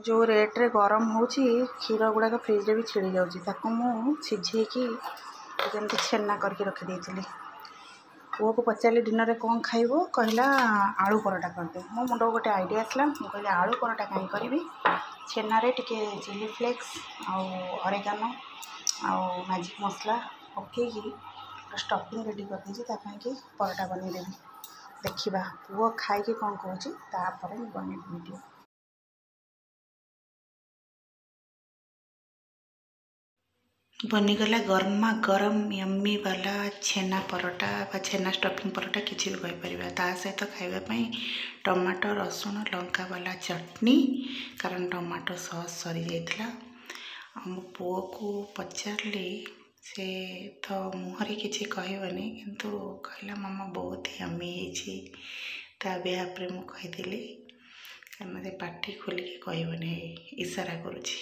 ଯେଉଁ ରେଟ୍ରେ ଗରମ ହେଉଛି, କ୍ଷୀର ଗୁଡ଼ାକ ଫ୍ରିଜ୍ରେ ବି ଛିଡ଼ି ଯାଉଛି। ତାକୁ ମୁଁ ସିଝେଇକି ଯେମିତି ଛେନା କରିକି ରଖିଦେଇଥିଲି। ପୁଅକୁ ପଚାରିଲି ଡିନରରେ କ'ଣ ଖାଇବୁ, କହିଲା ଆଳୁ ପରଟା କରିଦେ। ମୋ ମୁଣ୍ଡକୁ ଗୋଟେ ଆଇଡ଼ିଆ ଆସିଲା। ମୁଁ କହିଲି ଆଳୁ ପରଟା କାହିଁ କରିବି, ଛେନାରେ ଟିକେ ଚିଲି ଫ୍ଲେକ୍ସ ଆଉ ଅରେଗାନୋ ଆଉ ମ୍ୟାଜିକ୍ ମସଲା ପକେଇକି ଷ୍ଟଫିଂ ରେଡ଼ି କରିଦେଇଛି, ତା ପାଇଁକି ପରଟା ବନେଇଦେବି। ଦେଖିବା ପୁଅ ଖାଇକି କ'ଣ କହୁଛି, ତାପରେ ମୁଁ ବନେଇବି ଭିଡ଼ିଓ। ବନିଗଲା ଗରମା ଗରମ ୟମ୍ମି ବାଲା ଛେନା ପରଟା ବା ଛେନା ଷ୍ଟଫିଂ ପରଟା, କିଛି ବି କହିପାରିବା। ତା ସହିତ ଖାଇବା ପାଇଁ ଟମାଟୋ ରସୁଣ ଲଙ୍କା ବାଲା ଚଟନି, କାରଣ ଟମାଟୋ ସସ୍ ସରିଯାଇଥିଲା। ଆଉ ମୋ ପୁଅକୁ ପଚାରିଲି, ସେ ତ ମୁହଁରେ କିଛି କହିବନି, କିନ୍ତୁ କହିଲା ମାମା ବହୁତ ୟମ୍ମି ହେଇଛି। ତା ବିହାଫ୍ରେ ମୁଁ କହିଦେଲି, କାରଣ ସେ ପାଟି ଖୋଲିକି କହିବନି, ଇସାରା କରୁଛି।